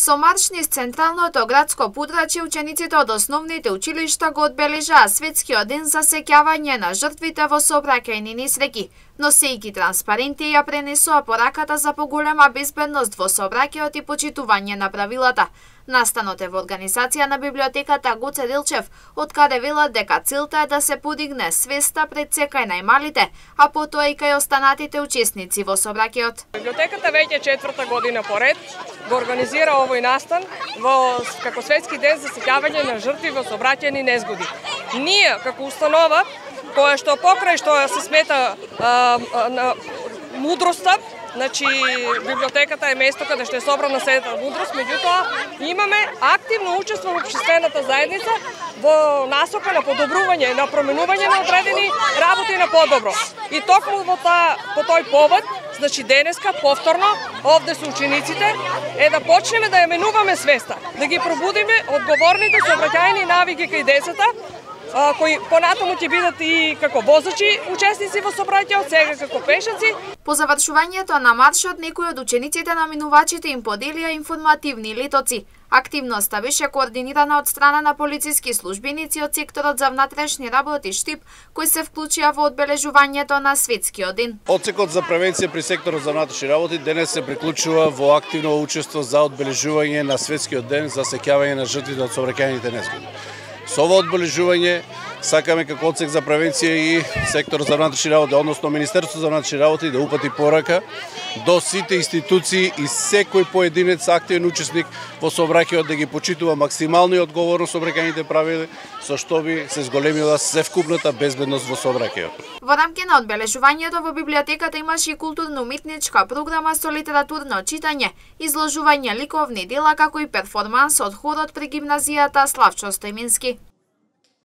Со марш низ централното градско подрачје, учениците од основните училишта го одбележаа светскиот ден за сеќавање на жртвите во сообраќајни несреќи. Носејќи транспаренти ја пренесоа пораката за поголема безбедност во сообраќајот и почитување на правилата. Настанот е во организација на библиотеката Гоце Делчев, од каде велат дека целта е да се подигне свеста пред се кај најмалите, а потоа и кај останатите учесници во сообраќајот. Библиотеката веќе 4-та година поред го организира овој настан како светски ден за сеќавање на жртви во сообраќајни незгоди. Ние како установа, која што покрај што се смета мудроста, значи библиотеката е место каде што е собрана сета мудрост, меѓутоа имаме активно учество во општествената заедница во насока на подобрување, на променување на одредени работи на подобро. И токму по тој повод, значи денеска повторно овде со учениците е да почнеме да ја менуваме свеста, да ги пробудиме одговорните сообраќајни навики кај децата, кои понатаму ќе бидат и како возачи учесници во сообраќајот, сега како пешаци. По завршувањето на маршот, некои од учениците на минувачите им поделија информативни летоци. Активноста беше координирана од страна на полициски службеници од секторот за внатрешни работи Штип, кои се вклучија во одбележувањето на светскиот ден. Одсекот за превенција при секторот за внатрешни работи денес се приклучува во активно учество за одбележување на светскиот ден за сеќавање на жртвите од сообраќајните незгоди. Со ова одбележување сакаме како одсек за превенција и сектор за внатрешни работи, односно Министерството за внатрешни работи да упати порака до сите институции и секој поединец активен учесник во сообраќајот да ги почитува максимално и одговорно сообраќајните правила, со што би се зголемила севкупната безбедност во сообраќајот. Во рамки на одбележувањето во библиотеката имаше и културно-уметничка програма со литературно читање, изложување ликовни дела како и перформанс од хорот при гимназијата Славчо Стојмински.